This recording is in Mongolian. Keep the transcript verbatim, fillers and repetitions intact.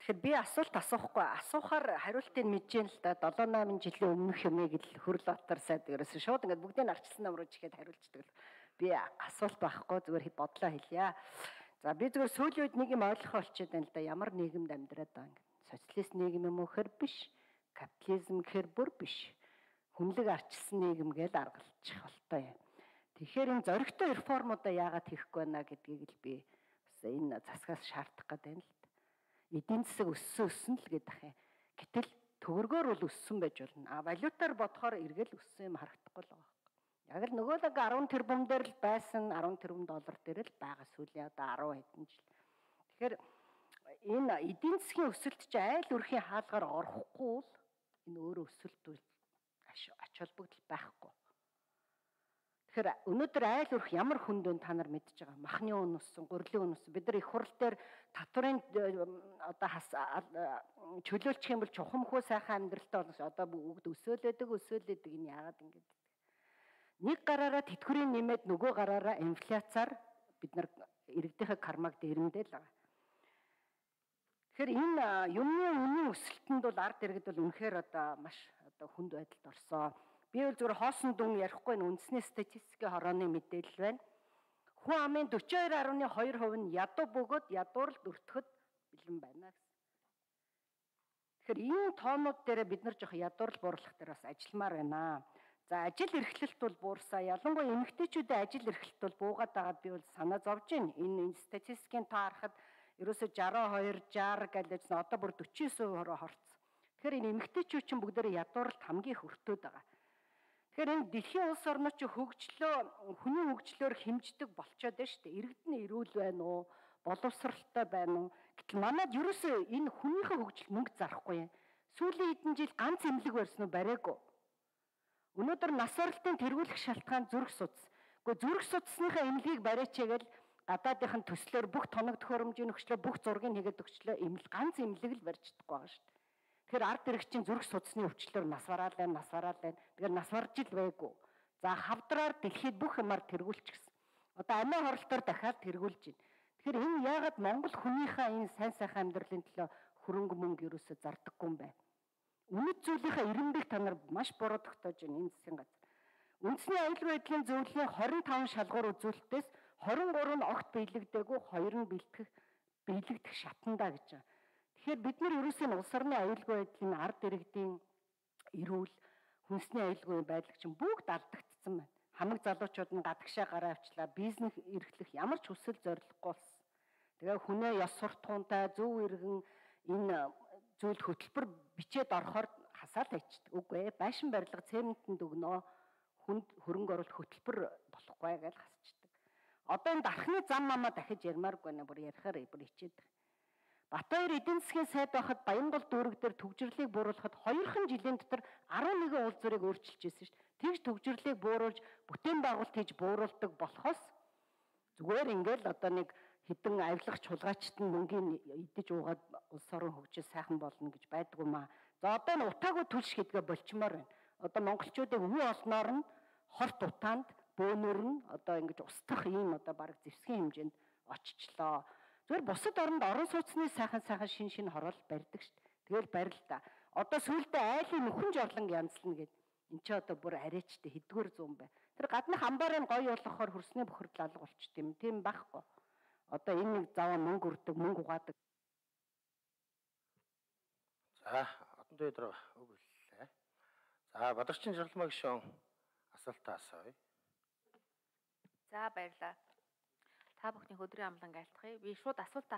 Тэгэхээр би асуулт асуухгүй асуухаар хариултыг мэдэж юм л да долоо намын жилийн өмнөх юмыг л Хөрлөбатар сайд ерөөсөө шууд ингээд бүгдийг арчилсан ном руу чихэд хариулцдаг л би асуулт байхгүй зүгээр бодлоо хэлье. За би зүгээр сүүлийн үед нэг юм ойлгох болчиход байна л да ямар нийгэмд амьдраад байгаа юм. Социалист нийгэм юм уу хэр биш, капитализм гэхэр бүр биш. Хүнлэг арчилсан нийгэм гэж аргалчих болтой юм. Тэгэхээр энэ зоригтой реформуудаа яагаад хийхгүй байна гэдгийг л би бас энэ засгаас шаардах гэдэг юм л. Эдийн засаг өссөн өссөн л гэдэг юм. Гэтэл төгрөгөөр бол өссөн байж болно. А валютаар бодохоор эргэл өссөн юм харагдахгүй л байгаа. Яг л нөгөө л арван тэрбум дээр л байсан арван тэрбум доллар дээр л байгаа сүүлийн одоо арван хэдэн жил. Тэгэхээр энэ эдийн засгийн өсөлт чи айл өрхийн хаалгаар орохгүй бол энэ өөрөө өсөлт ач холбогдол байхгүй. Тэгэхээр өнөөдөр айл өрх ямар хүнд вэ та нар мэдж байгаа. Махны үн өссөн, гурилын үн өссөн. Бид нар их хурл дээр татварын одоо чөлөөлчих юм бол чухамхүү сайхан амьдралтай болно. Одоо бүгд өсөөлөдөг, өсөөлөдөг энэ яагаад ингэж. Нэг гараараа тэтгэврийн нэмээд нөгөө гараараа инфляцаар бид нар иргэдийнхээ кармаг дээрэмдэл байгаа. Тэгэхээр энэ юмны үнийн өсөлтөнд бол ард иргэд бол үнэхээр одоо маш одоо хүнд байдалд орсон. Би бол зүгээр хоосон дүн ярихгүй нь үндэсний статистикийн хорооны мэдээлэл байна. Хүн амын дөрвөн хоёр гаруй хоёр хувь нь ядуу бөгөөд ядуурл өртөхөд бэлэн байна гэсэн. Тэгэхээр энэ тоонууд дээр бид нар жоох ядуурл буурлах дээр бас ажилламаар байна. За ажил эрхлэлт бол буурсаа. Ялангуяа эмэгтэйчүүдийн ажил эрхлэлт бол буугаад байгаад би бол санаа зовж байна. Энэ статистикийн тоо харахад ерөөсө жаруу хоёр, шаар гэлээжсэн одоо бүр дөрвөн девять процент хорцсон. Тэгэхээр энэ эмэгтэйчүүд чинь бүгдээрээ ядууралд хамгийн их өртөөд байгаа. Тэгэхээр энэ дэлхийн улс орнууд чи хөгжлөө хүний хөгжлөөр хэмждэг болчоод байна шүү дээ. Иргэд нь эрүүл байна уу? Боловсралтай байна уу? Гэтэл манайд ерөөсөө энэ хүнийхээ хөгжил мөнгө зарахгүй юм. Сүүлийн хэдэн жил ганц эмнэлэг барьсан уу? Бариагүй. Өнөөдөр нас баралтын тэргүүлэх шалтгаан зүрх судас. Гэхдээ зүрх судасныхаа эмнэлгийг бариачаагээл гадаадынхын төслөөр бүх тоног төхөөрөмжийн өгчлөө бүх зургийг хийгээд өгчлөө эмнэл ганц эмнэлэг л барьж чадахгүй байгаа шүү дээ. Тэгэхээр ард иргэдийн зүрх судасны өвчлөөр нас бараал байна, нас бараал байна. Тэгэхээр нас барж ил байгуу. За хавдраар дэлхийд бүх юмар тэргүүлчихсэн. Одоо амиа хорлолтоор дахиад тэргүүлж байна. Тэгэхээр энэ яагаад Монгол хүнийхээ энэ сайн сайхан амьдралын төлөө хөрөнгө мөнгө ерөөсө зардаггүй юм бэ? Үнэт зүйлийнхаа ирэмбийг та нар маш буруу тогтоож байна энэ засгийн газар. Үндэсний аюулгүй байдлын зөвлөлийн хорин таван шалгуур үзүүлэлтээс хорин гурав нь огт биелэгдээгүй, хоёр нь бэлтгэх биелэгдэх шатандаа гэж байна. Тэгэхээр бид нар ерөөсөө улс орны аюулгүй байдлын ард иргэдийн эрүүл, хүнсний аюулгүй байдал чинь бүгд алдагдсан байна. Хамаг залуучууд нь гадагшаа гараа авчлаа, бизнес эрхлэх ямар ч хүсэл зорилгогүй болсон. Тэгээ хүнээ ёс суртахуунтай зөв иргэн энэ зүйл хөтөлбөр бичээд орохоор хасаал хайчдаг. Үгүй ээ, байшин барилга цементэнд өгнөө хүнд хөрөнгө оруулалт хөтөлбөр болохгүй гэж хасчдаг. Одоо энэ дархны зам мамаа дахиж ярмааргүй нэ бүр ярихаар бүр хичээд. Батбаяр эдийн засгийн сайд байхад Баянгол дүүрэг дээр төгжрлийг бууруулахад хоёрхан жилийн дотор арван нэгэн уул зургийг өөрчилж ирсэн шүү дээ. Тэгж төгжрлийг бууруулж бүтээн байгуулалт хийж бууруулдаг болохоос зүгээр ингээл одоо нэг хэдэн авилах чулгаачт нь мөнгөний идэж уугаад улс орон хөгжил сайхан болно гэж байдгүй маа. За одоо н утаагүй түлш гэдгээ болчмоор байна. Одоо монголчуудыг үе олноор нь хорт утаанд бөөнөр нь одоо ингэж устгах ийм одоо баг зэвсгийн хэмжээнд очичлоо. Зүгээр бусад оронд орон сууцны сайхан сайхан шин шин хороол барьдаг шүү дээ. Тэгэл барил та. Одоо сүүлдээ айлын нөхөн жорлон янзлна гэд. Энд чи одоо бүр арайчтай хэдгээр зүүн бай. Тэр гаднах амбаарыг гоё болгохоор хөрсний бохирдол алга болчт юм. Тийм байхгүй. Одоо энэ нэг заваа мөнгө өрдөг, мөнгө угаадаг. За, одон дээр үг хэллээ. За, Бадарчин Жиргалмаа гишүүн асуултаа асууя. За баярлалаа. Та бүхний өдрийн амлан айлтгая. Би шууд асуултаа